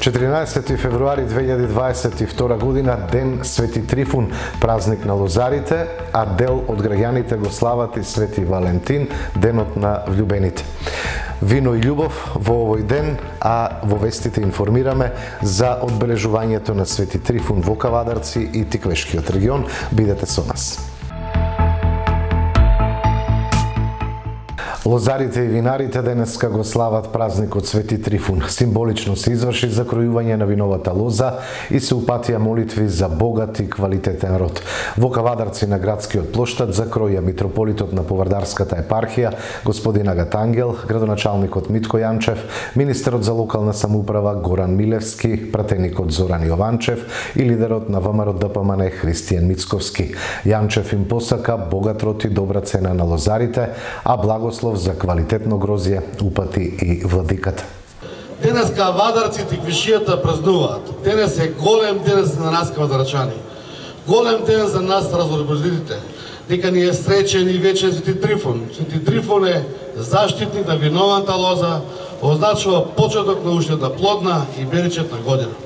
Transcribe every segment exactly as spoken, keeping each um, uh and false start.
четиринаесети февруари две илјади дваесет и втора година, ден Свети Трифун, празник на лозарите, а дел од граѓаните го слават и Свети Валентин, денот на влюбените. Вино и љубов во овој ден, а во вестите информираме за одбележувањето на Свети Трифун во Кавадарци и Тиквешкиот регион. Бидете со нас. Лозарите и винарите денеска го слават празникот Свети Трифун. Символично се изврши закројување на виновата лоза и се упатија молитви за богат и квалитетен род. Во Кавадарци на градскиот плоштад закроја митрополитот на Повардарската епархија, господин Агат Ангел, градоначалникот Митко Јанчев, министерот за локална самоуправа Горан Милевски, пратеникот Зоран Јованчев и лидерот на ВМРО Д П М Н Христијан Мицковски. Јанчев им посака богат род и добра цена на лозарите, а благослов за квалитетно грозје упати и владиката. Денес Кавадарци и Тиквишијата празнуваат. Денес е голем ден за нас кавадарчани. Голем ден за нас разорбозидите. Дека ни е среќен и вечен Свети Трифун. Свети Трифун е заштитник на винованата лоза, означува почеток на ушната плодна и беричетна година.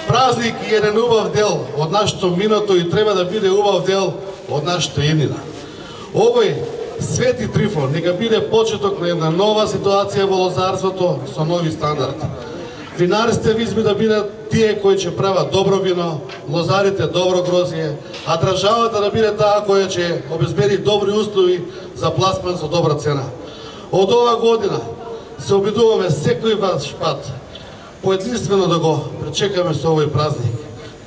Празник е еден убав дел од нашето минато и треба да биде убав дел од нашата иднина. Овој Свети Трифун нека биде почеток на една нова ситуација во лозарството со нови стандарди. Винарите визби да бидат тие кои ќе прават добро вино, лозарите добро грозје, а државата да биде таа која ќе обезбеди добри услови за пласман со добра цена. Од ова година се обидуваме секој ваш пат поединствено да го пречекаме со овој празник,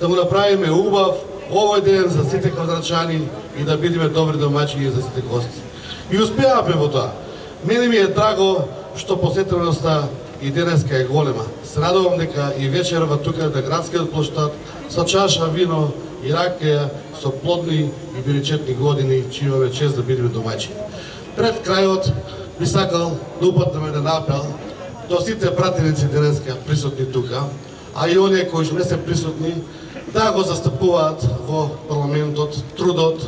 да го направиме убав овој ден за сите кавадарчани и да бидеме добри домаќини за сите гости. И успеавме во тоа. Мене ми е драго што посетеността и денеска е голема. Се радувам дека и вечерва тука на градскиот плоштад со чаша вино и ракија со плодни и беричетни години, че имаме чест да бидеме домаќини. Пред крајот би сакал да упатнеме еден апел до сите пратеници денеска присутни тука, а и оние кои не се присутни, да го застапуваат во парламентот трудот,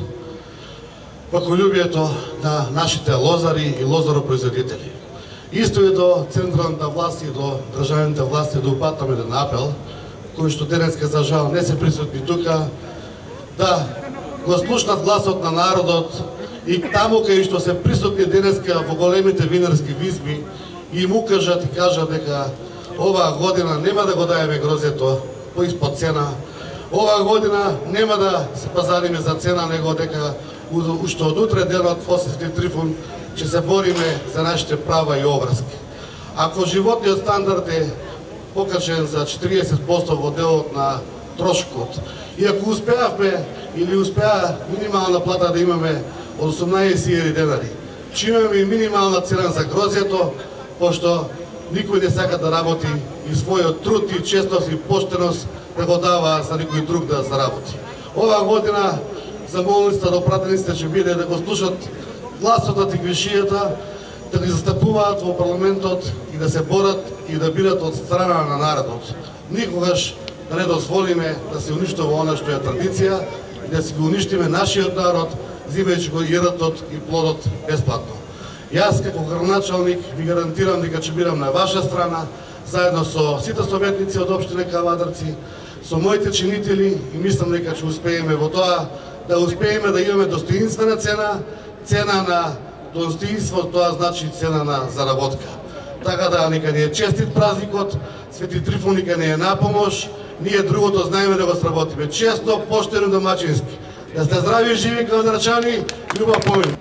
паколюбието на нашите лозари и лозаропроизводители. Исто и до централната власт и до државните власти да упатаме еден апел, кои што денеска за жал не се присутни тука, да го слушнат гласот на народот и таму кај што се присутни денеска во големите винарски визби и му кажат и кажат дека оваа година нема да го даеме грозјето по испод цена, оваа година нема да се пазариме за цена, него дека уште од утре денот после Свети Трифун ќе се бориме за нашите права и обврски. Ако животниот стандард е покачен за четириесет проценти во делот на трошокот, и ако успеавме или успеа минимална плата да имаме од осумнаесет илјади денари, че имаме и минимална цена за грозјето, пошто никој не сака да работи и својот труд и честност и поштеност да го дава за никој друг да заработи. Оваа година замолницата до пратениците ќе биде да го слушат гласот на Тиквишијата, да ги застапуваат во парламентот и да се борат и да бидат од страна на народот. Никогаш да не дозволиме да се уништува она што е традиција и да си го уништиме нашиот народ, зимајќи го јадот и плодот бесплатно. Јас како градоначалник ви гарантирам дека ќе бидам на ваша страна, заедно со сите советници од општина Кавадарци, со моите чинители, и мислам дека ќе успееме во тоа, да успееме да имаме достоинствена цена, цена на достоинство, тоа значи цена на заработка. Така да нека ни е честит празникот, Свети Трифун нека ни е на помош, ние другото знаеме да го сработиме. Често, поштено, домачински. Да сте здрави и живи кавадарчани, љубов помин.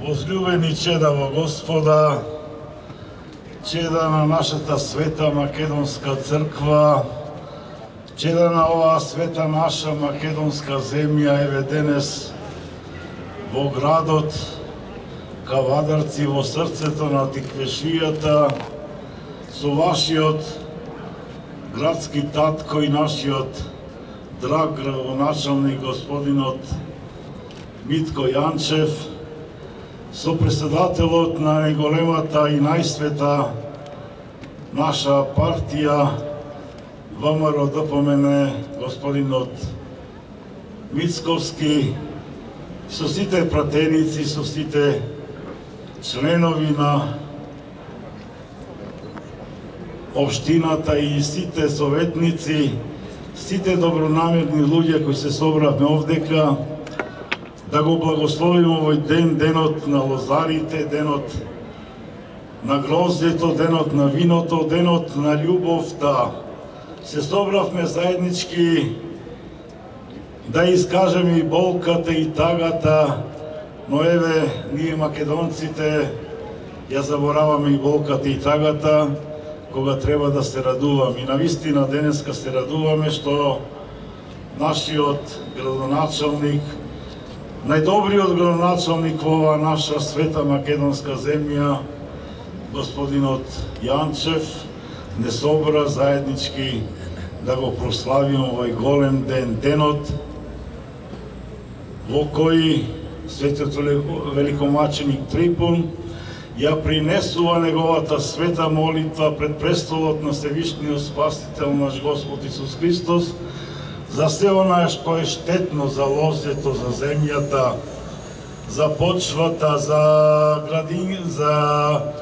Возлюбени чеда во Господа, чеда на нашата света македонска црква, чеда на оваа света наша македонска земја, еве денес во градот Кавадарци, во срцето на Тиквешијата, со вашиот градски татко и нашиот драг градоначалник господинот Митко Јанчев, со председателот на најголемата и најсвета наша партија ВМРО Д П М Н господинот Мицковски, со сите пратеници, со сите членови на општината и сите советници, сите добронамерни луѓе кои се собравме овдека, да го благословиме овој ден, денот на лозарите, денот на гроздето, денот на виното, денот на љубовта. Се собравме заеднички да искажеме и болката и тагата, но еве, ние македонците ја забораваме и болката и тагата, кога треба да се радуваме. И навистина денеска се радуваме што нашиот градоначалник, најдобриот градоначалник во оваа наша света македонска земја, господинот Јанчев, не собра заеднички да го прославиме овој голем ден, денот во кој светиот великомаченик Трифун ја принесува неговата света молитва пред престолот на Севишниот Спасител наш Господ Исус Христос за се она што е штетно за лозето, за земјата, за почвата, за градин, за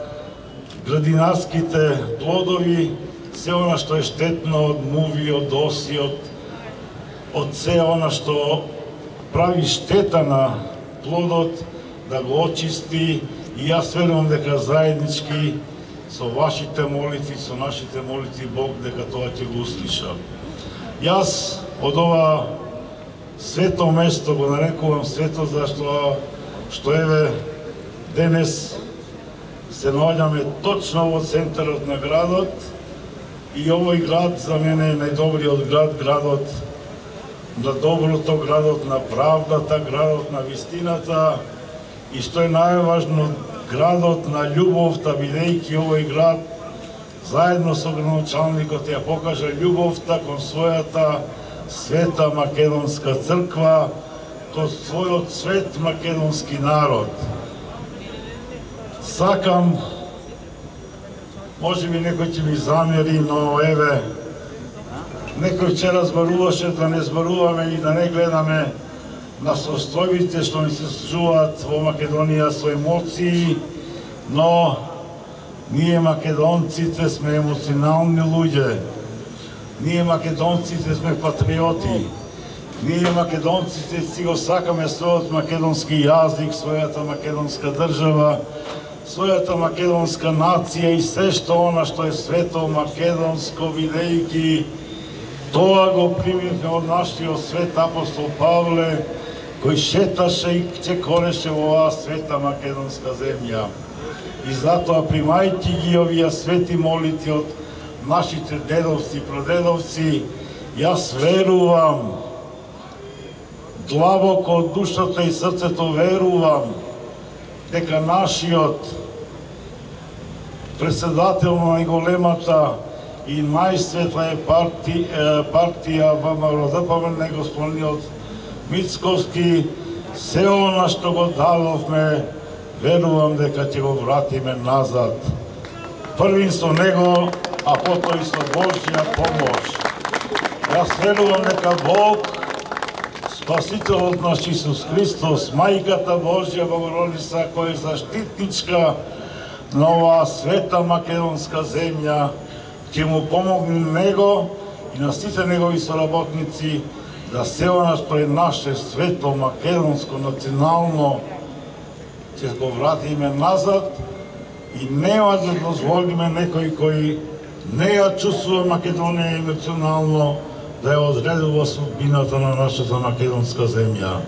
градинарските плодови, се она што е штетно од муви, од оси, од, од се она што прави штета на плодот, да го очисти. И јас верувам дека заеднички со вашите молитви, со нашите молитви Бог дека тоа ќе го услиша. Јас од ова свето место го нарекувам свето зашто што еве денес се наоѓаме точно во центарот на градот и овој град за мене е најдобриот град, градот на доброто, градот на правдата, градот на вистината и што е најважно, градот на љубовта, бидејќи овој град заедно со градоначалникот ја покажа љубовта кон својата света македонска црква, кон својот свет македонски народ. Сакам, може би некој ќе ми замери, но еве, некој вчера зборуваше да не зборуваме и да не гледаме на состојбите што ни се случуваат во Македонија со емоции, но ние македонците сме емоционални луѓе. Ние македонците сме патриоти. Ние македонците си го сакаме својот македонски јазик, својата македонска држава, својата македонска нација и се што она што е свето македонско, бидејќи тоа го примивме од нашиот свет апостол Павле, кој шеташе и чекореше во оваа света македонска земја. И затоа, примајќи ги овие свети молитви од нашите дедовци, продедовци, јас верувам, длабоко од душата и срцето верувам, дека нашиот председател на најголемата и најсветла е партија, партија ВМРО-ДПМН, господинот Мицковски, се она што го дадовме, верувам дека ќе го вратиме назад. Првин со него, а потоа и со Божја помош. Јас верувам дека Бог, Спасителот наш Исус Христос, Мајката Божја Богородица, која е заштитничка на оваа света македонска земја, ќе му помогне него и на сите негови соработници да се она што е наше свето македонско национално ќе го вратиме назад и нема да дозволиме некој кој не ја чувствува Македонија емоционално да ја одредува судбината на нашата македонска земја.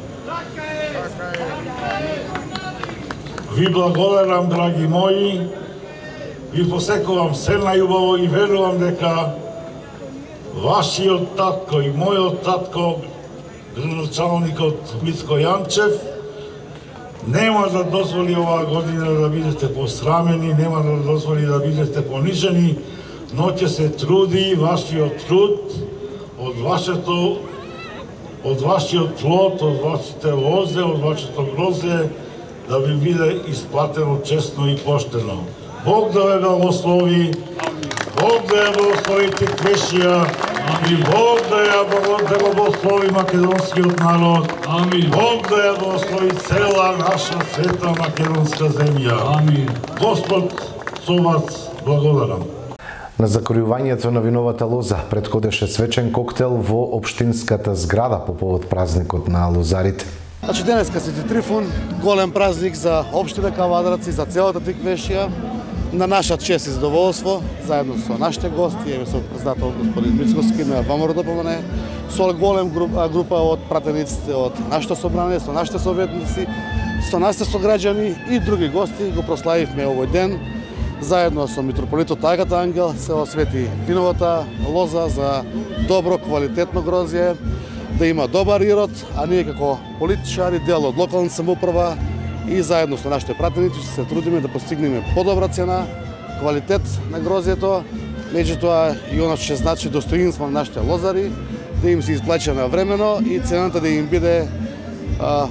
Ви благодарам, драги мои, ви посекувам се најубаво и верувам дека вашиот татко и мојот татко, градоначалникот Мицко Јанчев, нема да дозволи оваа година да бидете посрамени, нема да дозволи да бидете понижени, но ќе се труди вашиот труд од вашето, од вашиот плод, од вашите лозе, од вашето грозе, да ви биде исплатено честно и поштено. Бог да ве благослови, Бог да ја благослови Теквешија, и Бог да ја благослови македонскиот народ, Амин. Бог да ја благослови цела наша света македонска земја. Амин. Господ со вас благодарам. На закројувањето на виновата лоза претходеше свечен коктел во општинската зграда по повод празникот на лозарите. Значи денеска Свети Трифун, голем празник за општина Кавадарци, за целата Тиквешија, на наша чест и задоволство, заедно со нашите гости, еве со председател господин Мицковски на ВМРО-ДПМН, со голем група, група од пратениците од нашето собрание, со нашите советници, со нашите сограѓани и други гости го прославивме овој ден. Заедно со митрополитот Агата Ангел се освети виновата лоза за добро, квалитетно грозје, да има добар ирод, а ние како политичари, дел од локалната самоуправа и заедно со нашите пратеници ќе се трудиме да постигнеме подобра цена, квалитет на грозјето, меѓутоа и она што ќе значи достоинство на нашите лозари, да им се исплаќа навремено и цената да им биде а,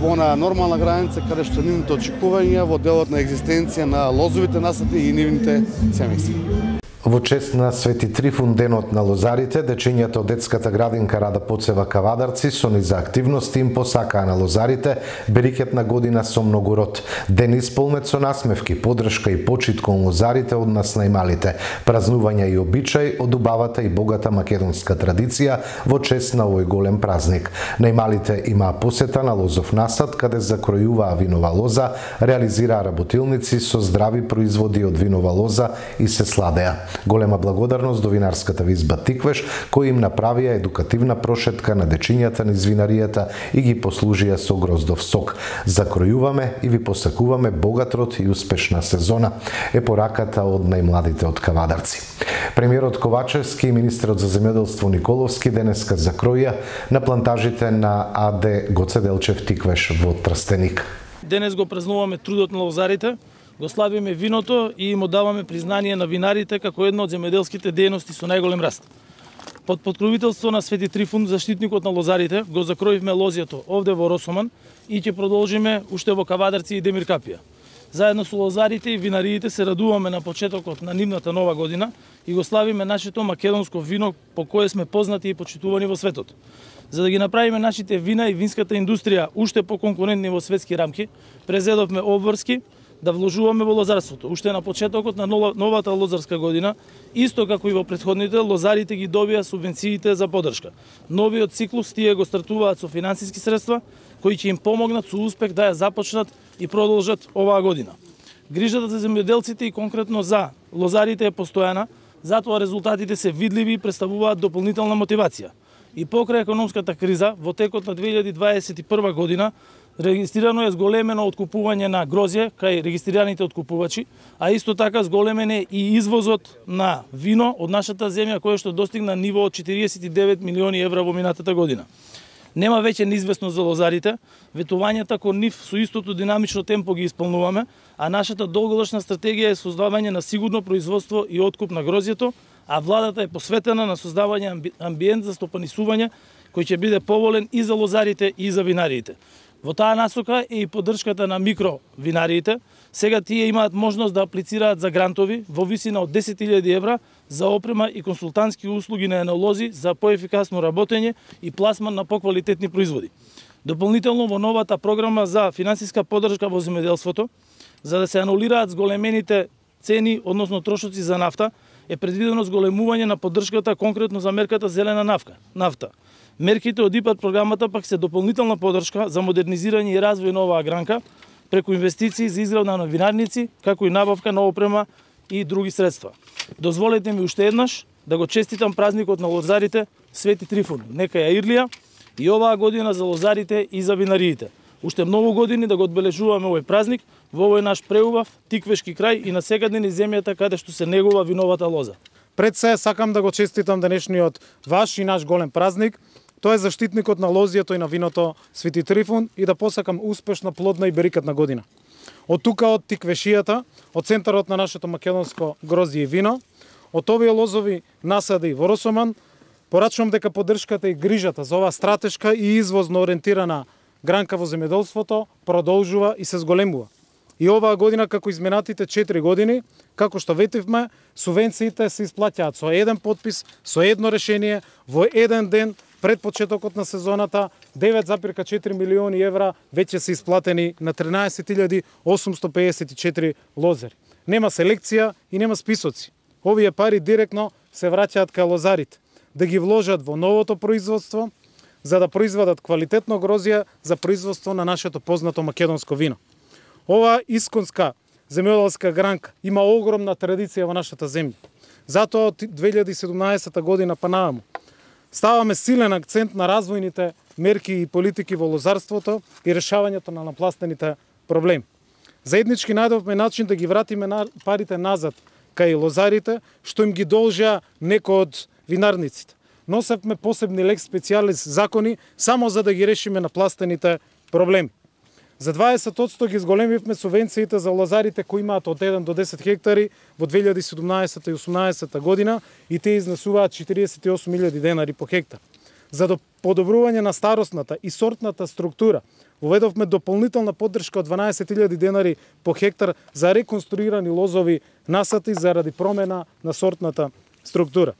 во на нормална граница каде што нивните очекувања во делот на екзистенција на лозовите насади и нивните семејства. Во чест на Свети Трифун, денот на лозарите, дечињата од детската градинка Рада Поцева Кавадарци со низа активности им посакаа на лозарите берикетна година со многу род. Ден исполнет со насмевки, подршка и почит кон лозарите од нас најмалите, празнувања и обичај од убавата и богата македонска традиција во чест на овој голем празник. Најмалите имаа посета на лозов насад, каде закројуваа винова лоза, реализираа работилници со здрави производи од винова лоза и се сладеа. Голема благодарност до винарската визба Тиквеш, кои им направија едукативна прошетка на дечињата низ винаријата и ги послужија со гроздов сок. Закројуваме и ви посакуваме богат род и успешна сезона, е пораката од најмладите од Кавадарци. Премиерот Ковачевски и министерот за земјоделство Николовски денеска закроја на плантажите на АД Гоце Делчев Тиквеш во Трстеник. Денес го празнуваме трудот на лозарите, го славиме виното и им даваме признание на винарите како една од земјоделските дејности со најголем раст. Под покровителство на Свети Трифун, заштитникот на лозарите, го закроивме лозјето овде во Росоман и ќе продолжиме уште во Кавадарци и Демир Капија. Заедно со лозарите и винариите се радуваме на почетокот на нивната нова година и го славиме нашето македонско вино по кое сме познати и почитувани во светот. За да ги направиме нашите вина и винската индустрија уште поконкурентни во светски рамки, презедовме обврски да вложуваме во лозарството. Уште на почетокот на новата лозарска година, исто како и во претходните, лозарите ги добија субвенциите за поддршка. Новиот циклус тие го стартуваат со финансиски средства, кои ќе им помогнат со успех да ја започнат и продолжат оваа година. Грижата за земјоделците и конкретно за лозарите е постојана, затоа резултатите се видливи и представуваат дополнителна мотивација. И покрај економската криза, во текот на две илјади дваесет и прва година, регистрирано е зголемено откупување на грозје кај регистрираните откупувачи, а исто така зголемен е и извозот на вино од нашата земја, кој што достигна ниво од четириесет и девет милиони евра во минатата година. Нема веќе неизвестност за лозарите, ветувањата кон нив со истото динамично темпо ги исполнуваме, а нашата долгорочна стратегија е создавање на сигурно производство и откуп на грозјето, а владата е посветена на создавање амбиент за стопанисување кој ќе биде поволен и за лозарите и за винариите. Во таа насока е и поддршката на микровинариите. Сега тие имаат можност да аплицираат за грантови во висина од десет илјади евра за опрема и консултантски услуги на енолози за поефикасно работење и пласман на поквалитетни производи. Дополнително во новата програма за финансиска поддршка во земјоделството, за да се анулираат зголемените цени, односно трошоци за нафта, е предвидено зголемување на поддршката конкретно за мерката зелена нафта. нафта. Мерките од ИПАРД програмата пак се дополнителна поддршка за модернизирање и развој на оваа гранка преку инвестиции за изградба на винарници, како и набавка на опрема и други средства. Дозволете ми уште еднаш да го честитам празникот на лозарите Свети Трифун. Нека ја ирлија и оваа година за лозарите и за винариите. Уште многу години да го одбележуваме овој празник во овој наш преубав тиквешки крај и насекаде низ земјата каде што се негува виновата лоза. Пред се сакам да го честитам денешниот ваш и наш голем празник. Тој е заштитникот на лозјето и на виното Свети Трифун и да посакам успешна, плодна и берикатна година. Од тука, од Тиквешијата, од центарот на нашето македонско грозје и вино, од овие лозови насади во Росоман, порачувам дека поддршката и грижата за оваа стратешка и извозно ориентирана гранка во земјоделството продолжува и се зголемува. И оваа година, како изминатите четири години, како што ветивме, субвенциите се исплаќаат со еден подпис, со едно решение, во еден ден, пред почетокот на сезоната, девет зарез четири милиони евра веќе се исплатени на тринаесет илјади осумсто пеесет и четири лозари. Нема селекција и нема списоци. овие пари директно се враќаат кај лозарите, да ги вложат во новото производство, за да произведат квалитетно грозје за производство на нашето познато македонско вино. Ова исконска земјоделска гранка има огромна традиција во нашата земја. Затоа од две илјади и седумнаесета година па наваму ставаме силен акцент на развојните мерки и политики во лозарството и решавањето на напластените проблеми. Заеднички најдовме начин да ги вратиме на парите назад кај лозарите, што им ги должа некои од винарниците. Носевме посебни лекс специалис закони само за да ги решиме напластените проблеми. За дваесет одсто ги зголемивме субвенциите за лозарите кои имаат од еден до десет хектари во две илјади и седумнаесета и осумнаесета година и те изнесуваат четириесет и осум илјади денари по хектар. За подобрување на старосната и сортната структура воведовме дополнителна поддршка од дванаесет илјади денари по хектар за реконструирани лозови насати заради промена на сортната структура.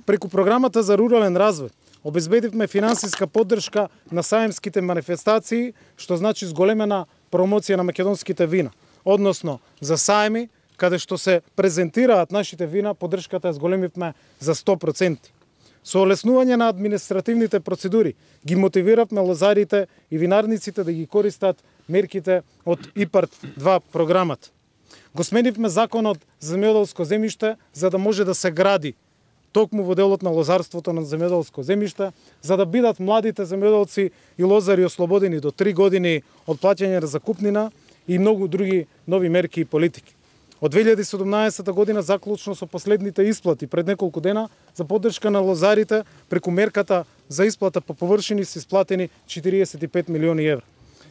Преку програмата за рурален развој обезбедивме финансиска поддршка на саемските манифестации, што значи зголемена промоција на македонските вина. Односно, за саеми, каде што се презентираат нашите вина, поддршката ја зголемивме за сто проценти. Со олеснување на административните процедури ги мотивиравме лозарите и винарниците да ги користат мерките од ИПАРД два програмата. Го сменивме законот за земјоделско земјиште за да може да се гради токму во делот на лозарството на земјоделско земјиште, за да бидат младите земјоделци и лозари ослободени до три години од плаќање на закупнина и многу други нови мерки и политики. Од две илјади и седумнаесета година заклучно со последните исплати пред неколку дена за поддршка на лозарите преку мерката за исплата по површини се исплатени четириесет и пет милиони евра.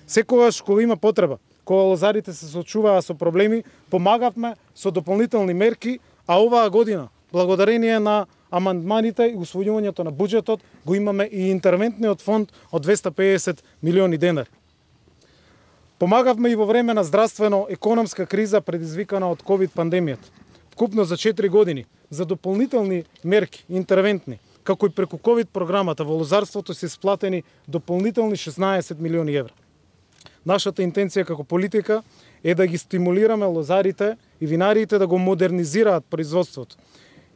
Секогаш кога има потреба, кога лозарите се соочуваа со проблеми, помагавме со дополнителни мерки, а оваа година благодарение на амандманите и усвојувањето на буџетот го имаме и интервентниот фонд од двесте и педесет милиони денари. Помагавме и во време на здравствено-економска криза предизвикана од ковид пандемијата. Вкупно за четири години за дополнителни мерки, интервентни, како и преку ковид програмата во лозарството се исплатени дополнителни шеснаесет милиони евра. Нашата интенција како политика е да ги стимулираме лозарите и винариите да го модернизираат производството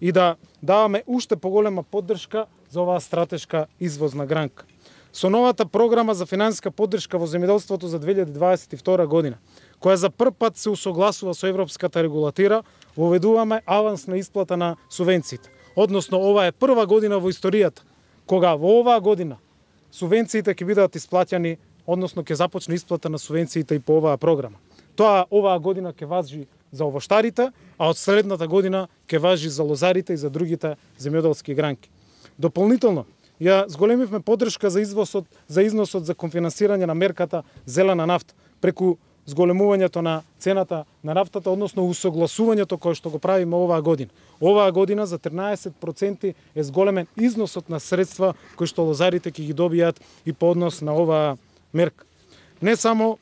и да даваме уште поголема поддршка за оваа стратешка извозна гранка. Со новата програма за финансиска поддршка во земјоделството за две илјади дваесет и втора година, која за прв пат се усогласува со европската регулатира, воведуваме авансна исплата на субвенциите. Односно, ова е прва година во историјата кога во оваа година субвенциите ќе бидат исплаќани, односно ќе започне исплата на субвенциите и по оваа програма. Тоа оваа година ќе важи за овоштарите, а од следната година ќе важи за лозарите и за другите земјоделски гранки. Дополнително, ја зголемивме поддршка за извозот, за износот за конфинансирање на мерката зелена нафта преку зголемувањето на цената на нафтата, односно усогласувањето кое што го правиме оваа година. Оваа година за тринаесет проценти е зголемен износот на средства кои што лозарите ќе ги добијат и по однос на оваа мерка. Не само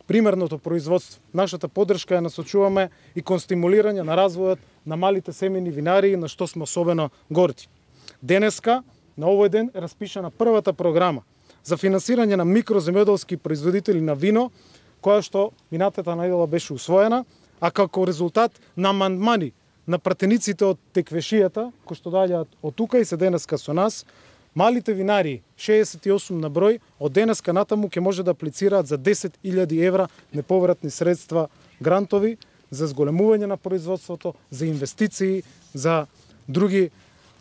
примерното производство. Нашата поддршка ја насочуваме и кон стимулирање на развојот на малите семени винарии, на што сме особено горди. Денеска, на овој ден, е распишана првата програма за финансирање на микроземјоделски производители на вино, која што минатата најдела беше усвоена, а како резултат на амандмани на пратениците од теквешијата, кои што доаѓаат од тука и се денеска со нас, малите винарии, шеесет и осум на број, од денеска натаму ќе може да аплицираат за десет илјади евра неповратни средства грантови за зголемување на производството, за инвестиции, за други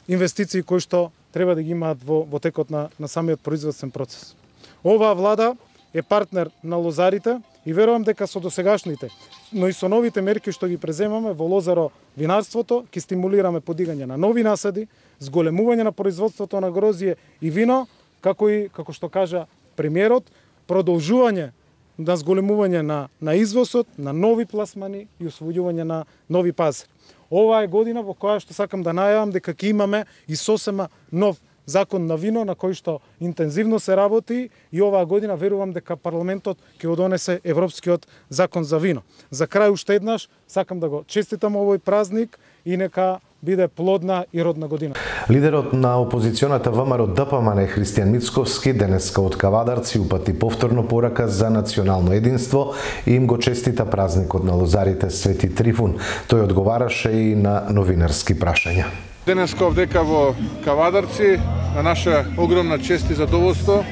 инвестиции кои што треба да ги имаат во, во текот на, на самиот производствен процес. Оваа влада е партнер на лозарите и верувам дека со досегашните, но и со новите мерки што ги преземаме во лозаро винарството, ќе стимулираме подигање на нови насади, зголемување на производството на грозје и вино, како и, како што кажа премиерот, продолжување на зголемување на, на извозот, на нови пласмани и освојување на нови пазари. Ова е година во која што сакам да најавам дека ќе имаме и сосема нов закон на вино на кој што интензивно се работи и оваа година верувам дека парламентот ќе го донесе европскиот закон за вино. За крај уште еднаш сакам да го честитам овој празник и нека биде плодна и родна година. Лидерот на опозиционата ВМРО ДПМН Христијан Мицковски денеска од Кавадарци упати повторно порака за национално единство и им го честита празникот на лозарите Свети Трифун. Тој одговараше и на новинарски прашања. Денеска овдека во Кавадарци, на наша огромна чест и задоволство,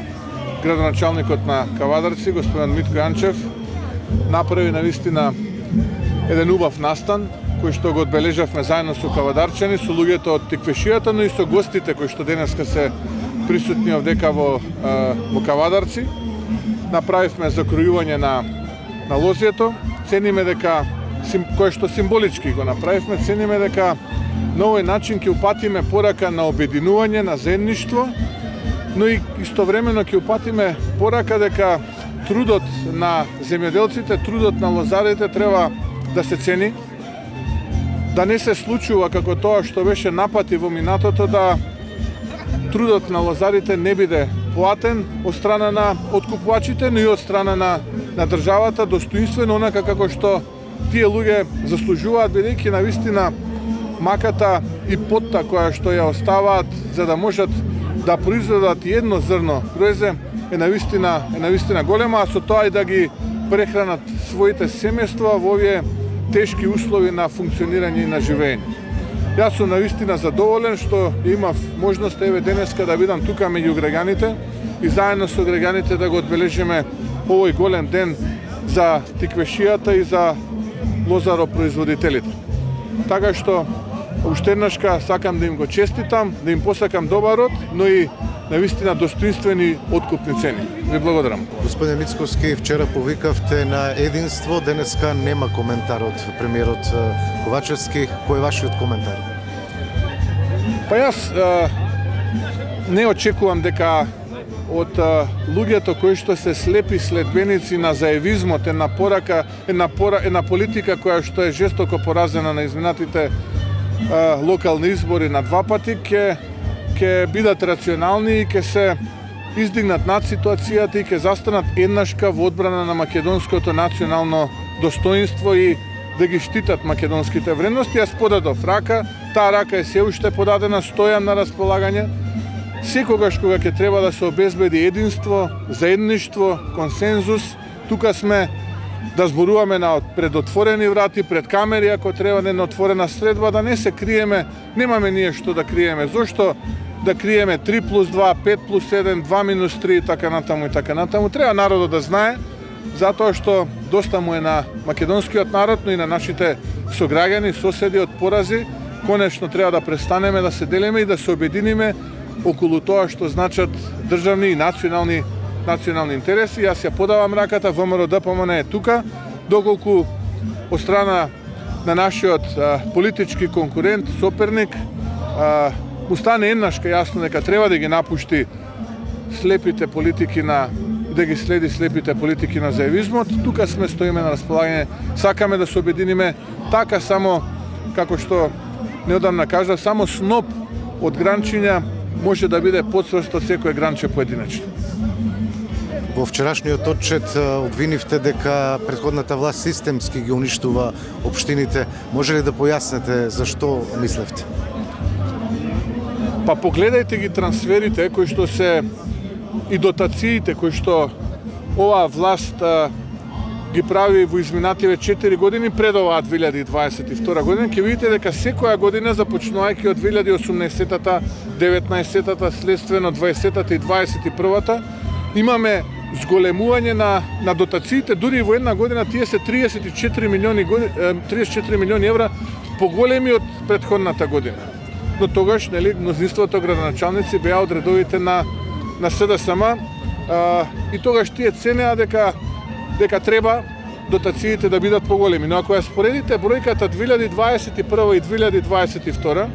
градоначалникот на Кавадарци, господин Митко Јанчев, направи навистина еден убав настан, кој што го одбележавме заедно со кавадарчани, со луѓето од Тиквешијата, но и со гостите кои што денеска се присутни овдека во, во Кавадарци. Направивме закројување на, на лозието, цениме дека, кој што символички го направивме, цениме дека на овој начин ќе упатиме порака на обединување, на заедништво, но и истовремено ќе упатиме порака дека трудот на земјоделците, трудот на лозарите треба да се цени, да не се случува како тоа што беше напати во минатото, да трудот на лозарите не биде платен од страна на откупувачите, но и од страна на, на државата, достоинствено онака како што тие луѓе заслужуваат, бидејќи навистина маката и потта која што ја оставаат за да можат да произведат едно зрно грозе е навистина, е навистина голема, а со тоа и да ги прехранат своите семејства во овие тешки услови на функционирање и на живење. Јас сум навистина задоволен што имав можност еве денеска да бидам тука меѓу граѓаните и заедно со граѓаните да го одбележиме овој голем ден за Тиквешијата и за лозаропроизводителите. Така што уште еднашка сакам да им го честитам, да им посакам добар род, но и навистина достоинствени откупни цени. Ви благодарам. Господин Мицковски, вчера повикавте на единство, денеска нема коментар од премиерот Ковачевски. Кој е вашиот коментар? Па јас а, не очекувам дека од а, луѓето кои што се слепи следбеници на заевизмот, една порака, една, пора, една политика која што е жестоко поразена на изминатите а, локални избори на два пати, ке ќе бидат рационални и ќе се издигнат над ситуацијата и ќе застанат еднашка во одбрана на македонското национално достоинство и да ги штитат македонските вредности. Јас подадов рака, таа рака е се уште подадена, стојам на располагање. Секогаш кога ќе треба да се обезбеди единство, заедништво, консензус, тука сме да зборуваме на пред отворени врати, пред камери, ако треба на отворена средба, да не се криеме, немаме ние што да криеме. Зошто да криеме три плюс два, пет плюс еден, два минус три и така натаму и така натаму. Треба народот да знае, затоа што доста му е на македонскиот народ, но и на нашите сограѓани, соседи од порази. Конечно треба да престанеме да се делиме и да се обединиме околу тоа што значат државни и национални национални интереси. Јас ја подавам раката, ВМРО ДПМН е тука, доколку од страна на нашиот а, политички конкурент, соперник, а, му стане еднашка јасно дека треба да ги напушти слепите политики на да ги следи слепите политики на заевизмот. Тука сме, стоиме на располагање, сакаме да се обединиме, така само како што неодамна кажа, само сноп од гранчиња може да биде подсврст од секој гранче поединечно. Во вчерашниот отчет обвинивте дека претходната власт системски ги уништува општините. Може ли да појаснете зашто мислевте? Па погледајте ги трансферите кои што се и дотациите кои што оваа власт а, ги прави во изминативе четири години пред оваа две илјади и дваесет и втора година, ќе видите дека секоја година започнувајќи од две илјади и осумнаесеттата, деветнаесеттата, следствено дваесеттата и дваесет и првата, имаме зголемување на, на дотациите, дури во една година тие се триесет и четири милиони, триесет и четири милиони евра поголеми од претходната година. Но тогаш, нели, мнозинството градоначалници беа од редовите на на СДСМ а, и тогаш тие ценеа дека дека треба дотациите да бидат поголеми. Но ако ја споредите бројката две илјади дваесет и прва и две илјади дваесет и втора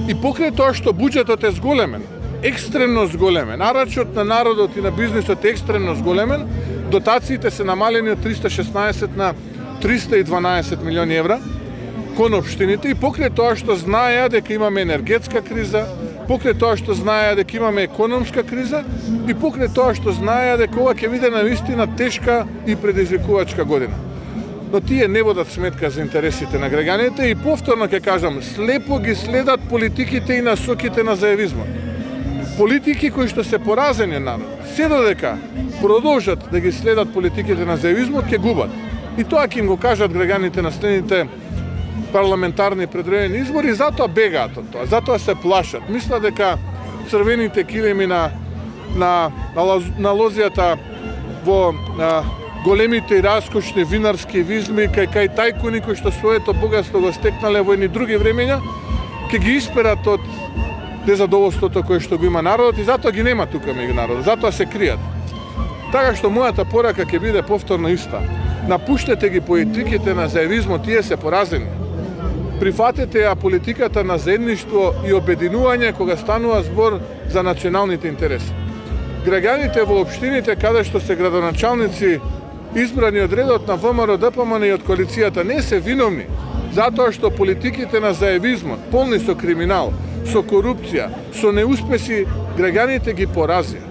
и покрај тоа што буџетот е зголемен, екстремно зголемен, нарачот на народот и на бизнисот е екстремно зголемен, дотациите се намалени од триста и шеснаесет на триста и дванаесет милиони евра кон општините и покрај тоа што знаеа дека имаме енергетска криза, покрај тоа што знаеа дека имаме економска криза и покрај тоа што знаеа дека ова ќе биде навистина тешка и предизвикувачка година. но тие не водат сметка за интересите на граѓаните и повторно ќе кажам, слепо ги следат политиките и насоките на заевизмот. Политики кои што се поразени народ, се додека продолжат да ги следат политиките на заевизмот, ќе губат. И тоа ќе им го кажат граѓаните на следните парламентарни предредени избори, затоа бегаат од тоа, затоа се плашат. Мислат дека црвените килими на на на лозијата во на, големите и раскошни винарски визми кај кај тајкуни кои што своето богатство го стекнале во едни други времења, ќе ги исперат од незадоволството кое што го има народот и затоа ги нема тука меѓу народот, затоа се кријат. Така што мојата порака ќе биде повторно иста. Напуштете ги политиките на заевизмот, тие се поразени. Прифатете ја политиката на заедништво и обединување кога станува збор за националните интереси. Граѓаните во општините каде што се градоначалници избрани од редот на ВМРО-ДПМН и од коалицијата не се виновни, затоа што политиките на заевизмот, полни со криминал, со корупција, со неуспеси, граѓаните ги поразија.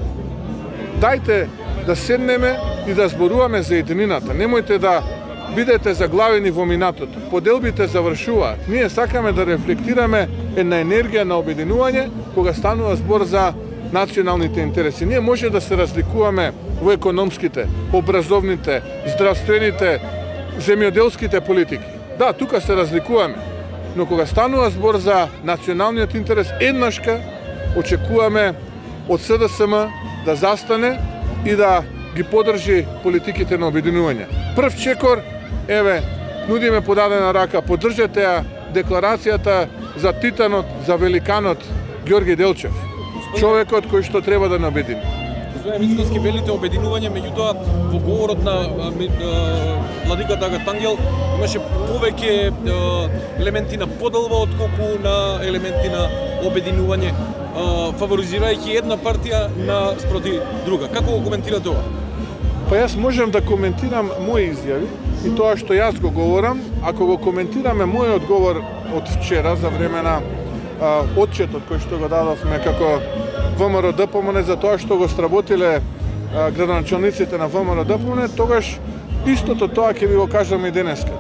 Дајте да седнеме и да зборуваме за единината. Немојте да бидете заглавени во минатото. Поделбите завршуваат. Ние сакаме да рефлектираме една енергија на обединување кога станува збор за националните интереси. Ние може да се разликуваме во економските, образовните, здравствените, земјоделските политики. Да, тука се разликуваме. Но кога станува збор за националниот интерес, еднашка очекуваме од СДСМ да застане и да ги подржи политиките на обединување. Прв чекор, еве, нудиме подадена рака, поддржете ја декларацијата за титанот, за великанот Ѓорги Делчев. Човекот кој што треба да не обедини. Господине Мицкоски, велите обединување, меѓутоа во говорот на владиката Агатангел имаше повеќе елементи на поделба отколку на елементи на обединување, фаворизирајќи една партија на спроти друга. Како го коментирате ова? Па јас можам да коментирам мои изјави и тоа што јас го говорам, ако го коментираме мојот говор од вчера за време на а, отчетот кој што го дадовме како ВМРО-ДПМН за тоа што го сработиле а, градоначалниците на ВМРО-ДПМН, тогаш истото тоа ќе ви го кажам и денеска.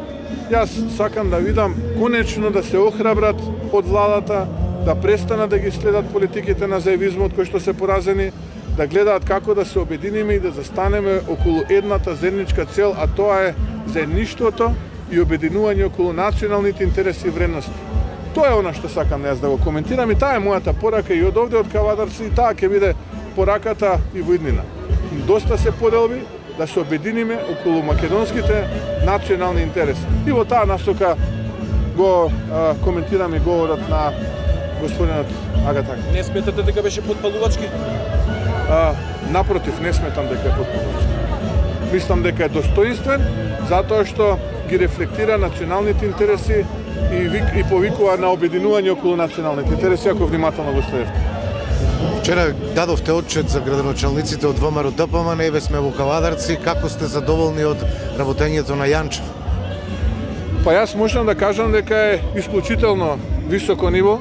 Јас сакам да видам конечно да се охрабрат од владата, да престанат да ги следат политиките на заевизмот кои што се поразени, да гледаат како да се обединиме и да застанеме околу едната заедничка цел, а тоа е заедништвото и обединување околу националните интереси и вредности. Тоа е она што сакам јас да го коментирам и таа е мојата порака и од овде од Кавадарци и таа ќе биде пораката и во иднина. Доста се поделби, да се обединиме околу македонските национални интереси. И во таа насока го а, коментирам и говорот на господинот Агатак. Не сметате дека беше подпалувачки? А, напротив, не сметам дека е подпалувачки. Мислам дека е достоинствен, затоа што ги рефлектира националните интереси и, вик, и повикува на обединување околу националните интереси, ако внимателно го следевте. Вчера дадовте отчет за градоначалниците од ВМРО-ДПМН, еве сме во Кавадарци, како сте задоволни од работењето на Јанчев? Па јас можам да кажам дека е исклучително високо ниво.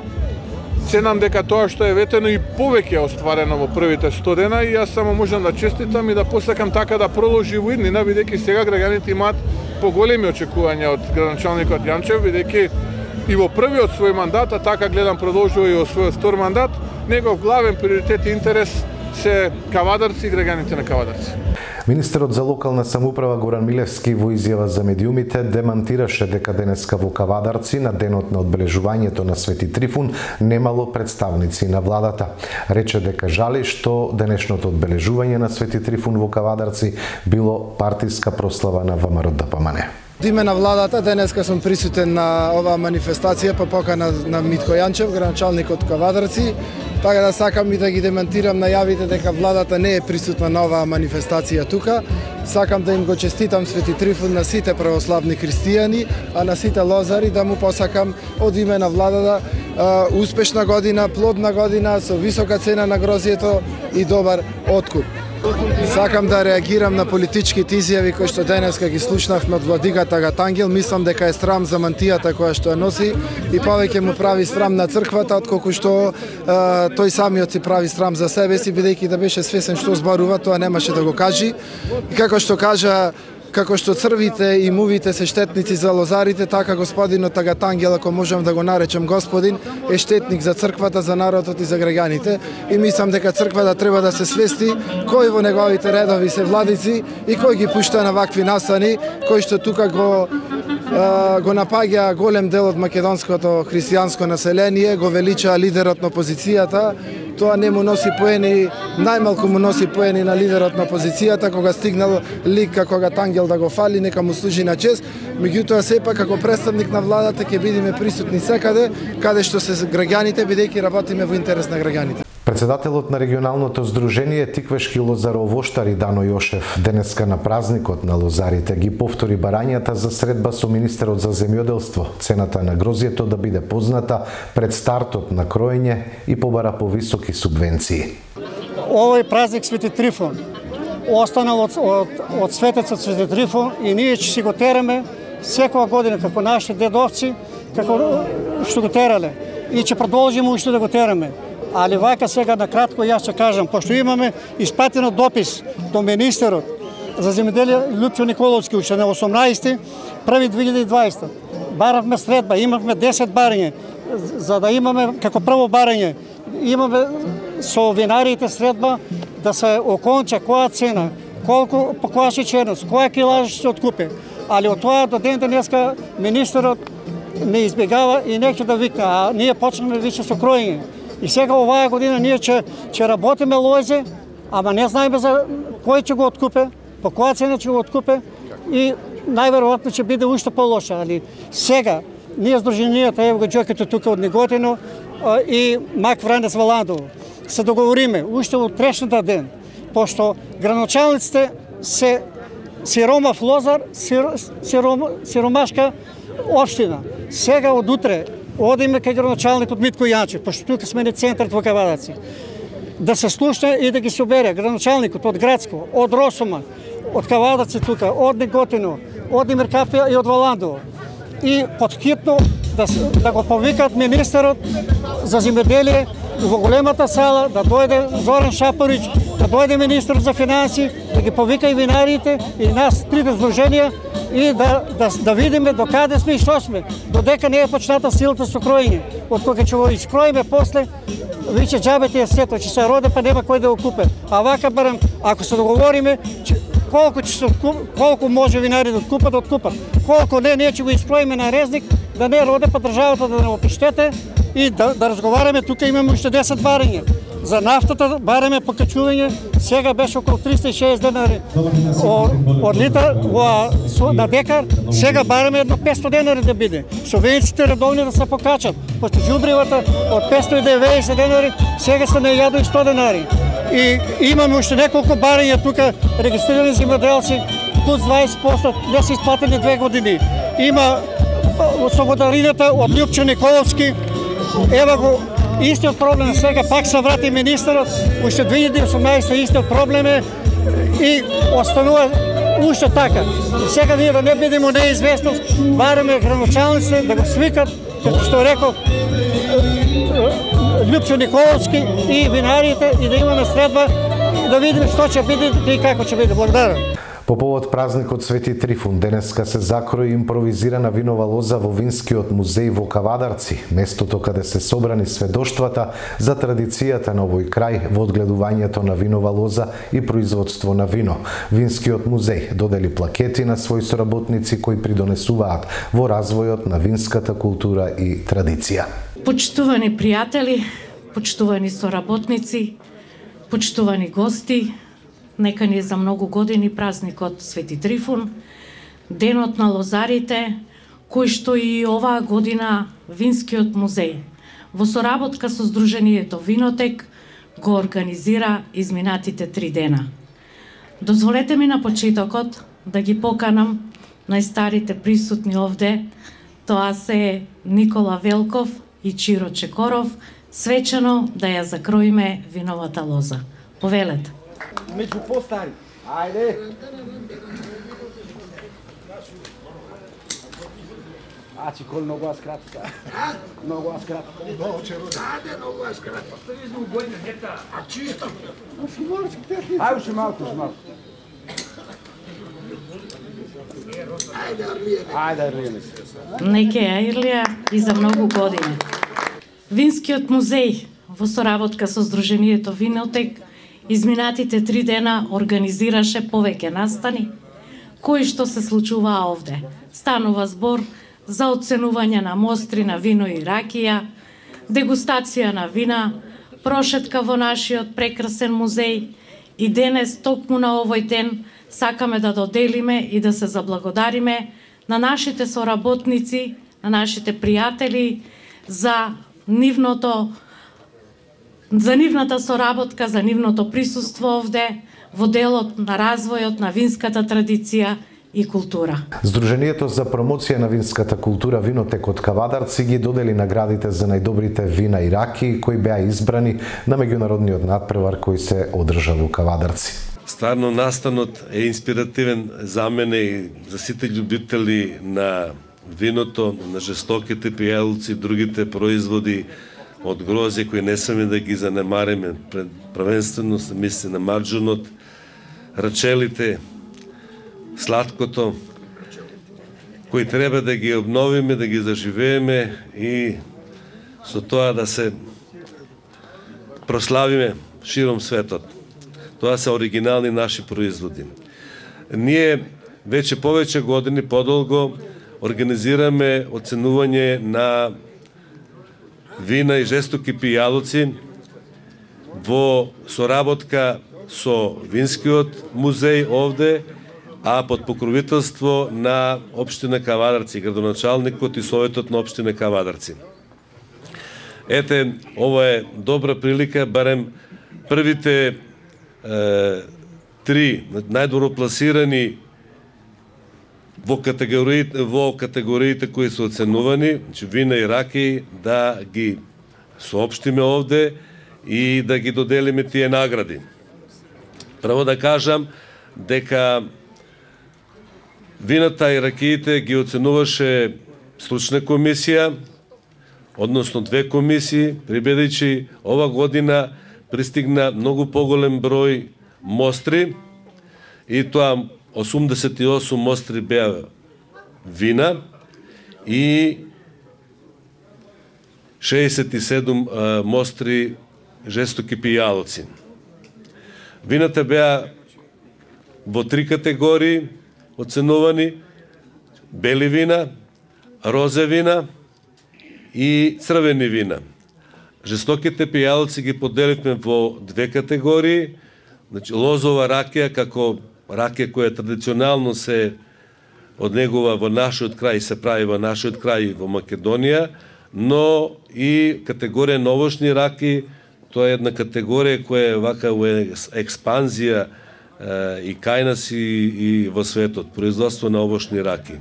Ценам дека тоа што е ветено и повеќе е остварено во првите сто дена и јас само можам да честитам и да посакам така да продолжи во иднина, бидејќи сега граѓаните имаат поголеми очекувања од градоначалникот Јанчев, бидејќи и во првиот свој мандат, а така гледам продолжува и во својот втор мандат, негов главен приоритет и интерес се Кавадарци и граѓаните на Кавадарци. Министерот за локална самоуправа Горан Милевски во изјава за медиумите демантираше дека денеска во Кавадарци на денот на одбележувањето на Свети Трифун немало представници на владата. Рече дека жали што денешното одбележување на Свети Трифун во Кавадарци било партиска прослава на ВМРО-ДПМН. Од име на владата денеска сум присутен на оваа манифестација по покана на Митко Јанчев, градоначалник од Кавадарци. Така да сакам и да ги демантирам најавите дека владата не е присутна на оваа манифестација тука. Сакам да им го честитам Свети Трифун на сите православни христијани, а на сите лозари да му посакам од име на владата успешна година, плодна година со висока цена на грозието и добар откуп. Сакам да реагирам на политичките изјави кои што денеска ги слушнавме од владиката Агатангел. Мислам дека е срам за мантијата која што ја носи и повеќе му прави срам на црквата отколку што е, тој самиот си прави срам за себе си, бидејќи да беше свесен што зборува, тоа немаше да го кажи. И како што кажа како што црвите и мувите се штетници за лозарите, така господинот Тагатангел, ако можам да го наречем господин, е штетник за црквата, за народот и за граѓаните. И мислам дека црквата треба да се свести кои во неговите редови се владици и кој ги пушта на вакви настани, кои што тука го го напаѓа голем дел од македонското христијанско население, го велича лидерот на опозицијата. Тоа не му носи поени, најмалку му носи поени на лидерот на опозицијата, кога стигнал лик како Тагатангел да го фали, нека му служи на чест. Меѓутоа сепак како представник на владата ќе бидеме присутни секаде каде што се граѓаните, бидејќи работиме во интерес на граѓаните. Председателот на регионалното здружение Тиквешки лозаровоштари Дано Јошев денеска на празникот на лозарите ги повтори барањата за средба со министерот за земјоделство, цената на грозјето да биде позната пред стартот на кроење и побара повисоки субвенции. Овој празник Свети Трифун останал од, од, од светецот Свети Трифун и ние ќе си го тераме секоја година како нашите дедовци, како што го терале и ќе продолжиме уште да го тераме. Али вака сега на кратко јас ќе кажам, пошто имаме испратено допис до министерот за земјоделие Лјупчо Николовски уште на осумнаесети први две илјади и дваесета. Баравме средба, имавме десет барање, за да имаме како прво барање, имаме со винарите средба да се оконча која цена, колку по која шеќерност, која килажа ќе се откупи. Али од тоа до ден денеска министерот не избегава и неќе да вика, а ние почнеме више со кроење. И сега оваа година ние ќе ќе работиме лозе, ама не знаеме за кој ќе го откупе, по која цена ќе го откупе и најверојатно ќе биде уште полоша, али сега ние здруженијата, ево го џокето тука од Неготино и Мак Вранец Валандово се договориме уште од утрешниот ден, пошто граначалниците се сиромав лозар, сиром, сиромашка општина. Сега од утре одиме кај граначалникот Митко Јанчев, пошто тука сме на центарот во Кавадарци. Да се слушне и да ги собере граначалникот од Градско, од Росома, од Кавадарци тука, од Неготино, од Имеркапија и од Валандово. И подхитно да, да го повикат министерот за земјоделие во големата сала, да дојде Зоран Шапорич, да дојде министерот за финансии, да ги повика и винарите и нас трите здруженија и да, да, да видиме до каде сме и што сме, додека не е почната силата со кроење. Од кога ќе го искроиме после, виќе џабете е сето, ќе се роде па нема кој да го купе. А вака барам, ако се договориме, колку ќе се колку може винари да откупат, да откупат. Колку не, ние ќе го искроиме на резник, да не роде па државата да не опиштете и да, да разговараме. Тука имаме уште десет барања. За нафтата бараме покачување, сега беше околу триста и шеесет денари од литар на декар, сега бараме едно петстотини денари да биде. Субвенциите редовни да се покачат, пошто џубривата од петстотини и деветдесет денари сега се на илјада и сто денари. И имаме уште неколку барања тука регистрирани земјоделци, плюс дваесет проценти не се исплатени две години. Има слободарината од Лјупчо Николовски, ева го истиот проблем сега, пак се врати министерот, уште две илјади и осумнаесета истиот проблем е и останува уште така. И сега ние да не бидеме неизвестност, бараме граначалниците да го свикат, како што реков Лјупчо Николовски и винарите и да имаме средба да видиме што ќе биде и како ќе биде. Благодарам. По повод празникот Свети Трифун, денеска се закрои импровизирана винова лоза во Винскиот музеј во Кавадарци, местото каде се собрани сведоштвата за традицијата на овој крај во одгледувањето на винова лоза и производство на вино. Винскиот музеј додели плакети на своји соработници кои придонесуваат во развојот на винската култура и традиција. Почитувани пријатели, почитувани соработници, почитувани гости, нека ни е за многу години празникот Свети Трифун, денот на лозарите, кој што и оваа година Винскиот музеј во соработка со Сдруженијето Винотек го организира изминатите три дена. Дозволете ми на почетокот да ги поканам најстарите присутни овде, тоа се Никола Велков и Чиро Чекоров, свечено да ја закроиме виновата лоза. Повелете. Меѓу постари. Ајде. А, че кол многу аз кратка. Многу аз кратка. Много че рода. Ајде, многу аз кратка. Ставизно година, нета. А чисто. Ајде, уште малку, уште малку. Ајде, Арлије. Неке ја Ирлија и за многу години. Винскиот музеј во соработка со Сдруженијето Винотек изминатите три дена организираше повеќе настани, кои што се случуваа овде. Станува збор за оценување на мостри на вино и ракија, дегустација на вина, прошетка во нашиот прекрасен музеј и денес, токму на овој ден, сакаме да доделиме и да се заблагодариме на нашите соработници, на нашите пријатели за нивното за нивната соработка, за нивното присуство овде во делот на развојот на винската традиција и култура. Сдруженијето за промоција на винската култура Винотек од Кавадарци ги додели наградите за најдобрите вина и раки кои беа избрани на меѓународниот надпревар кој се одржа во Кавадарци. Стварно настанот е инспиративен за мене и за сите љубители на виното, на жестоките пијалци и другите производи од грозе кои не сме да ги занемариме, првенствено се мисли на марџунот, рачелите, сладкото, кои треба да ги обновиме, да ги заживееме и со тоа да се прославиме широм светот. Тоа се оригинални наши производи. Ние веќе повеќе години подолго организираме оценување на вина и жестоки пијалоци во соработка со Винскиот музеј овде, а под покровителство на општина Кавадарци, градоначалникот и советот на општина Кавадарци. Ете, ова е добра прилика, барем првите е, три најдобро пласирани во категориите, во категориите кои се оценувани, значи вина и раки, да ги соопштиме овде и да ги доделиме тие награди. Право да кажам дека вината и ракиите ги оценуваше стручна комисија, односно две комисии, прибедејќи ова година пристигна многу поголем број мостри и тоа осумдесет и осум мостри беа вина и шеесет и седум мостри жестоки пијалоци. Вината беа во три категории оценувани: бели вина, розе вина и црвени вина. Жестоките пијалоци ги поделивме во две категории, значи лозова ракија како ракија која традиционално се однегува во нашиот крај и се прави во нашиот крај во Македонија, но и категорија новошни раки, тоа е една категорија која е вака во експанзија е, и кај нас и, и во светот, производство на овошни раки.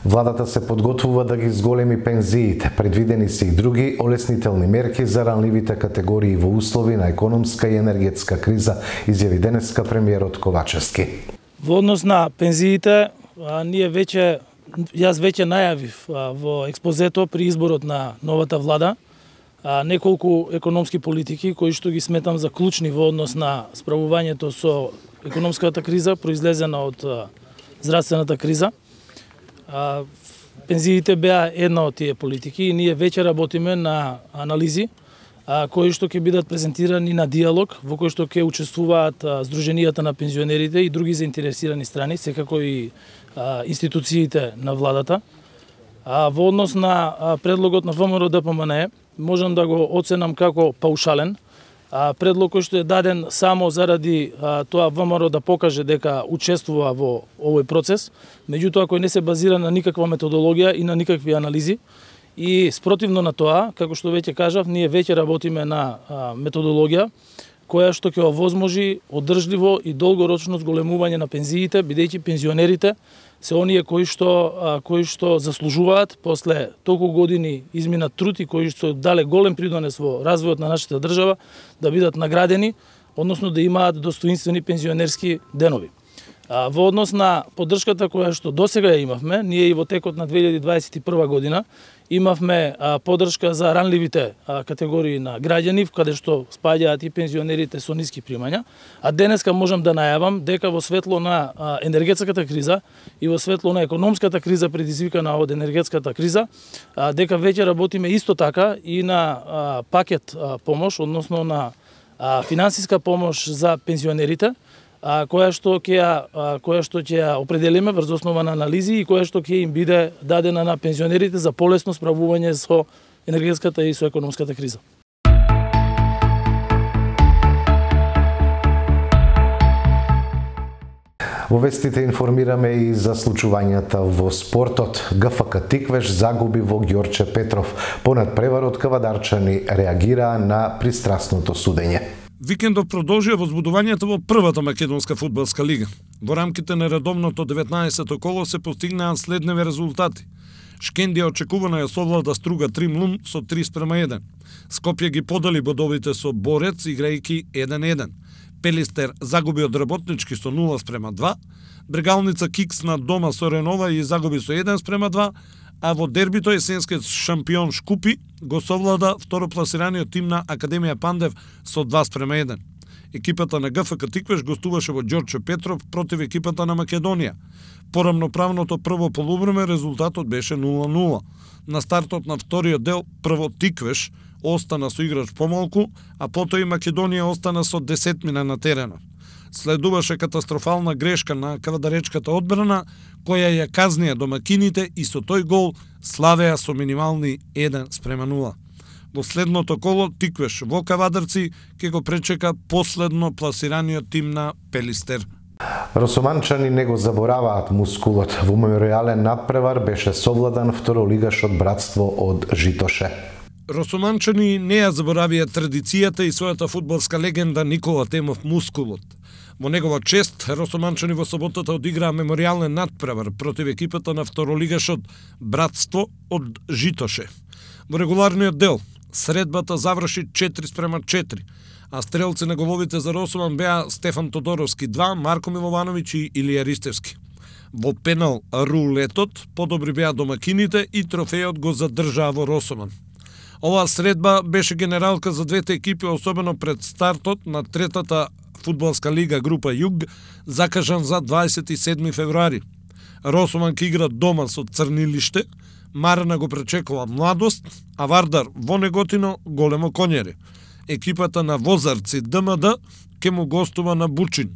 Владата се подготвува да ги зголеми пензиите. Предвидени се и други олеснителни мерки за ранливите категории во услови на економска и енергетска криза, изјави денеска премиерот Ковачевски. Во однос на пензиите, а, ние веќе, јас веќе најавив а, во експозето при изборот на новата влада а, неколку економски политики кои што ги сметам за клучни во однос на справувањето со економската криза произлезена од а, здравствената криза. А, пензиите беа една од тие политики и ние веќе работиме на анализи а, кои што ќе бидат презентирани на диалог во кој што ќе учествуваат а, Сдруженијата на пензионерите и други заинтересирани страни, секако и а, институциите на владата. А, во однос на а, предлогот на ВМРО Д П М Н Е можам да го оценам како паушален. А, предлог кој што е даден само заради а, тоа ВМРО да покаже дека учествува во овој процес, меѓутоа кој не се базира на никаква методологија и на никакви анализи. И спротивно на тоа, како што веќе кажав, ние веќе работиме на а, методологија која што ќе овозможи одржливо и долгорочно зголемување на пензиите, бидејќи пензионерите се оние кои што а, кои што заслужуваат после толку години изминат труд и кои што дале голем придонес во развојот на нашата држава да бидат наградени, односно да имаат достоинствени пензионерски денови. А, во однос на поддршката која што досега ја имавме, ние и во текот на две илјади дваесет и прва година имавме а, поддршка за ранливите а, категории на граѓани, каде што спаѓаат и пензионерите со ниски примања, а денеска можам да најавам дека во светло на а, енергетската криза и во светло на економската криза предизвикана од енергетската криза, а, дека веќе работиме исто така и на а, пакет а, помош, односно на а, финансиска помош за пензионерите, а, која што ќе ја која што ќе ја определиме врз основа на анализи и која што ќе им биде дадена на пензионерите за полесно справување со енергетската и со економската криза. Во вестите информираме и за случувањата во спортот. ГФК Тиквеш загуби во Ѓорче Петров. Понад преварот кавадарчани реагираа на пристрасното судење. Викендов продолжија возбудувањето во првата македонска фудбалска лига. Во рамките на редовното деветнаесетто коло се постигнаа следневи резултати. Шкендија очекувано ја совлада Струга Тримлун со три спрема еден. Скопје ги подели бодовите со Борец играјќи еден еден. Пелистер загуби од Работнички со нула спрема два. Брегалница Кикс на дома со Ренова и загуби со еден спрема два. А во дербито есенскиот шампион Шкупи го совлада второпласираниот тим на Академија Пандев со два спрема еден. Екипата на ГФК Тиквеш гостуваше во Ѓорче Петров против екипата на Македонија. По рамноправното прво полувреме резултатот беше нула нула. На стартот на вториот дел прво Тиквеш остана со играч помалку, а потоа и Македонија остана со десетмина на теренот. Следуваше катастрофална грешка на кавадаречката одбрана, која ја казнија домакините и со тој гол славеа со минимални еден спрема нула. Во следното коло Тиквеш во Кавадарци ќе го пречека последно пласираниот тим на Пелистер. Росоманчани не го забораваат мускулот. Во меморијален надпревар беше совладан второлигашот Братство од Житоше. Росоманчани не ја заборавија традицијата и својата фудбалска легенда Никола Темов Мускулот. Во негова чест, Росоманчани во соботата одиграа меморијален надпревар против екипата на второлигашот Братство од Житоше. Во регуларниот дел, средбата заврши четири спрема четири, а стрелци на головите за Росоман беа Стефан Тодоровски два, Марко Миловановиќ и Илија Ристевски. Во пенал рулетот подобри беа домакините и трофејот го задржаа во Росоман. Оваа средба беше генералка за двете екипи, особено пред стартот на третата фудбалска лига група Југ, закажан за дваесет и седми февруари. Росоман ке игра дома со Црнилиште, Марена го пречекува Младост, а Вардар во Неготино Големо Конјари. Екипата на Возарци ДМД ке му гостува на Бучин.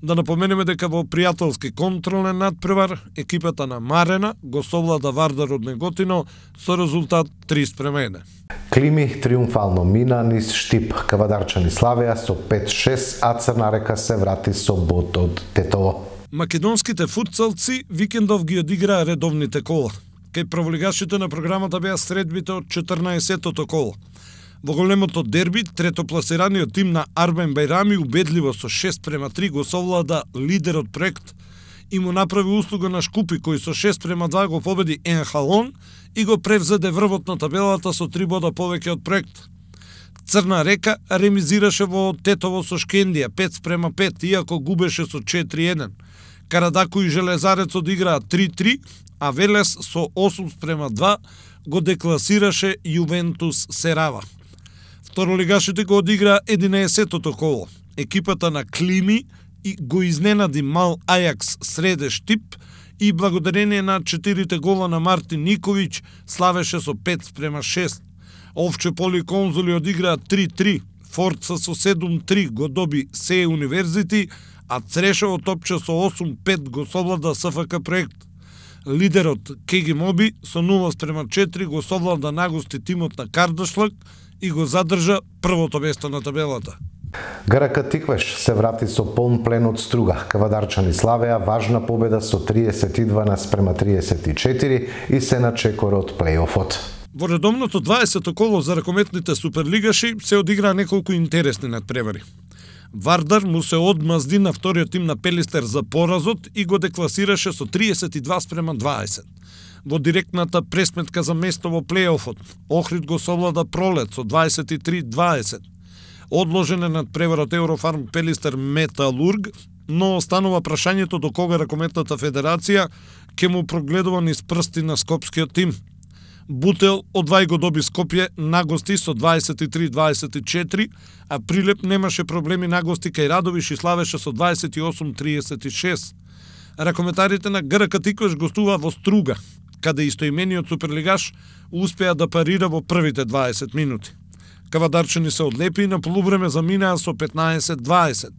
Да напоменеме дека во пријателски контролен надпревар екипата на Марена го совлада Вардар од Неготино со резултат три спрема еден. Клими триумфално мина низ Штип. Кавадарчани славеа со пет шест, а Црна Река се врати со бод од Тетово. Македонските футсалци викендов ги одиграа редовните кола. Кај праволигашите на програмата беа средбите од четрнаесеттото коло. Во големото дерби, третопласираниот тим на Арбен Бајрами убедливо со шест спрема три го совлада лидерот проект и му направи услуга на Шкупи, кој со шест спрема два го победи Енхалон и го превзеде врвот на табелата со три бода повеќе од проект. Црна Река ремизираше во Тетово со Шкендија пет спрема пет, иако губеше со четири еден. Карадако и Железарец одиграа три три, а Велес со осум спрема два го декласираше Јувентус Серава. Второлигашите го одиграа единаесеттото коло. Екипата на Клими и го изненади Мал Ајакс Среде Штип и благодарение на четирите гола на Мартин Никовиќ славеше со пет спрема шест. Овче Поли Конзули одиграа три три, Форца со седум три го доби Се Универзити, а Црешево топче со осум пет го совлада СФК проект. Лидерот Кеги Моби со нула спрема четири го совлада нагости тимот на Кардашлак и го задржа првото место на табелата. ГРК Тиквеш се врати со полн плен од Струга. Кавадарчани славеа важна победа со триесет и два спрема триесет и четири и се на чекор од плејофот. Во редовното дваесетто коло за ракометните суперлигаши се одиграа неколку интересни надпревари. Вардар му се одмазди на вториот тим на Пелистер за поразот и го декласираше со триесет и два спрема дваесет. Во директната пресметка за место во плејофот, Охрид го совлада Пролет со дваесет и три дваесет. Одложен е надпреварот Еврофарм Пелистер Металург, но останува прашањето до кога Ракометната федерација ќе му прогледува низ прсти на скопскиот тим. Бутел одвај го доби Скопје на гости со дваесет и три дваесет и четири, а Прилеп немаше проблеми на гости кај Радовиш и славеше со дваесет и осум триесет и шест. Ракометарите на ГРК Тиквеш гостува во Струга, каде истоимениот суперлигаш успеа да парира во првите дваесет минути. Кавадарчани се одлепи и на полувреме заминаа со петнаесет дваесет.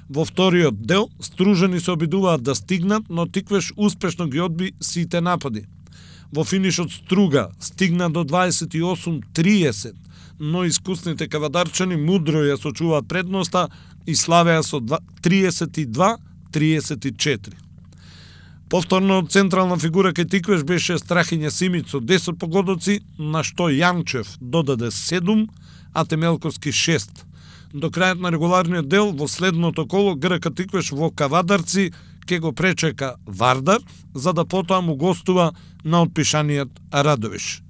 Во вториот дел Стружани се обидуваат да стигнат, но Тиквеш успешно ги одби сите напади. Во финишот Струга стигна до дваесет и осум триесет, но искусните кавадарчани мудро ја сочуваат предноста и славеа со триесет и два триесет и четири. Повторно централна фигура кај Тиквеш беше Страхиња Симиć со десет погодоци, на што Јанчев додаде седум, а Темелковски шест. До крајот на регуларниот дел во следното коло ГРК Тиквеш во Кавадарци ќе го пречека Вардар, за да потоа му гостува на отпишаниот Радовиш.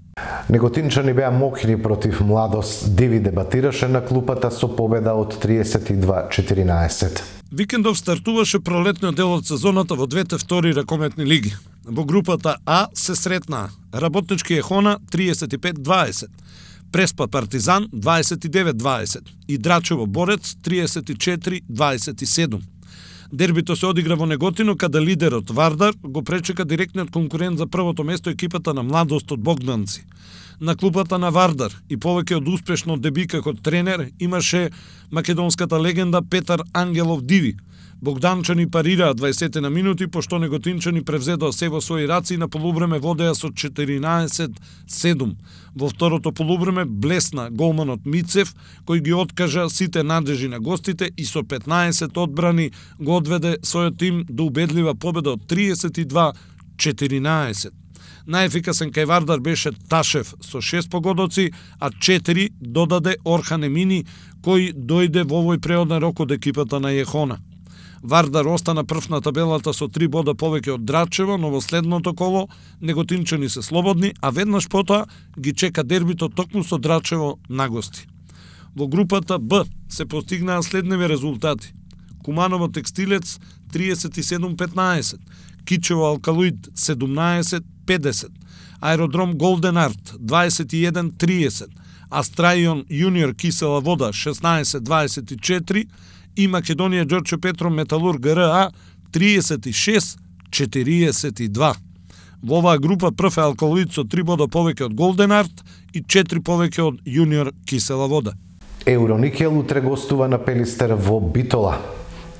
Неготинчани беа мокри против Младост. Диви дебатираше на клупата со победа од триесет и два четиринаесет. Викендов стартуваше пролетниот дел од сезоната во двете втори ракометни лиги. Во групата А се сретнаа Работнички Ехона триесет и пет дваесет, Преспа Партизан дваесет и девет дваесет и Драчево Борец триесет и четири дваесет и седум. Дербито се одигра во Неготино, каде лидерот Вардар го пречека директниот конкурент за првото место екипата на Младост од Богданци. На клупата на Вардар и повеќе од успешно деби како тренер имаше македонската легенда Петар Ангелов Диви. Богданчани парираа дваесет на минути, пошто неготинчани превзедоа се во своји раци и на полувреме водеа со четиринаесет седум. Во второто полувреме блесна голманот Мицев, кој ги откажа сите надежи на гостите и со петнаесет одбрани го одведе својот тим до убедлива победа од триесет и два четиринаесет. Најефикасен кај Вардар беше Ташев со шест погодоци, а четири додаде Орхан Емини, кој дојде во овој преоден рок од екипата на Ехона. Вардар остана прв на табелата со три бода повеќе од Драчево, но во следното коло неготинчани се слободни, а веднаш потоа ги чека дербито токму со Драчево на гости. Во групата Б се постигнаа следниви резултати. Куманово Текстилец триесет и седум петнаесет, Кичево Алкалоид седумнаесет педесет, Аеродром Голден Арт дваесет и еден триесет, Астраион Јуниор Кисела Вода шеснаесет дваесет и четири и Македонија Ѓорче Петром Металур ГРА триесет и шест четириесет и два. Во оваа група прв е Алкалоид со три бода повеќе од Голден Арт и четири повеќе од Јуниор Кисела Вода. Евроникел утре гостува на Пелистер во Битола.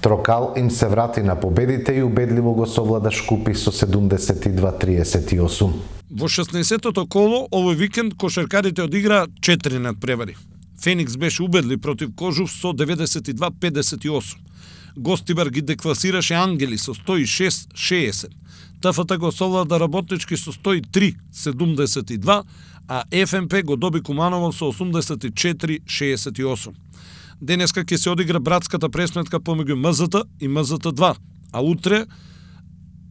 Трокал им се врати на победите и убедливо го совлада Шкупи со седумдесет и два триесет и осум. Во шеснаесеттото коло овој викенд кошаркарите одиграа четири надпревари. Феникс беше убедлив против Кожув со деветдесет и два педесет и осум. Гостибар ги декласираше Ангели со сто и шест шеесет. ТФТ го совлада Работнички со сто и три седумдесет и два, а ФМП го доби Куманово со осумдесет и четири шеесет и осум. Денеска ќе се одигра братската пресметка помеѓу МЗТ и МЗТ два, а утре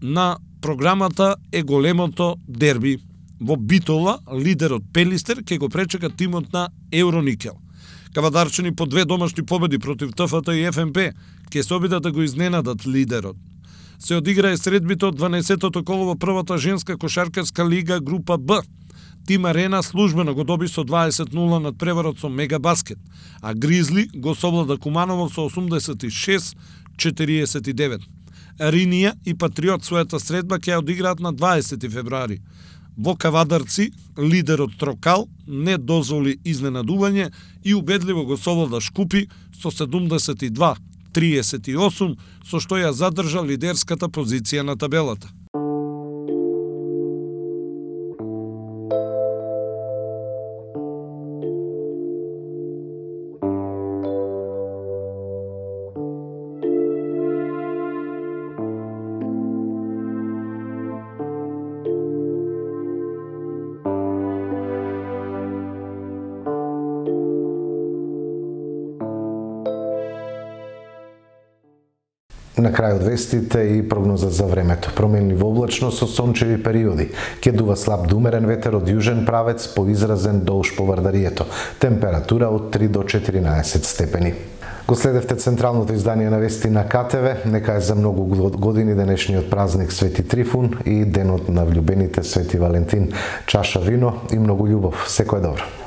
на програмата е големото дерби. Во Битола, лидерот Пелистер ќе го пречека тимот на Евроникел. Кавадарчани по две домашни победи против ТФТ и ФМП ќе се обидат да го изненадат лидерот. Се одигра е средбито од дванаесеттото коло во првата женска кошаркарска лига група Б. Тим Арена службено го доби со дваесет нула над преварот со Мегабаскет, а Гризли го совлада Куманово со осумдесет и шест четириесет и девет. Ринија и Патриот својата средба ќе ја одиграат на дваесети февруари. Во Кавадарци, лидерот Трокал не дозволи изненадување и убедливо го совлада Шкупи со седумдесет и два триесет и осум, со што ја задржа лидерската позиција на табелата. На крај од вестите и прогноза за времето. Променливо облачно со сончеви периоди. Ќе дува слаб до умерен ветер од јужен правец поизразен долж по Вардарието. Температура од три до четиринаесет степени. Го следевте централното издание на вести на К Т В. Нека е за многу години денешниот празник Свети Трифун и денот на влюбените Свети Валентин. Чаша вино и многу љубов. Секој добро.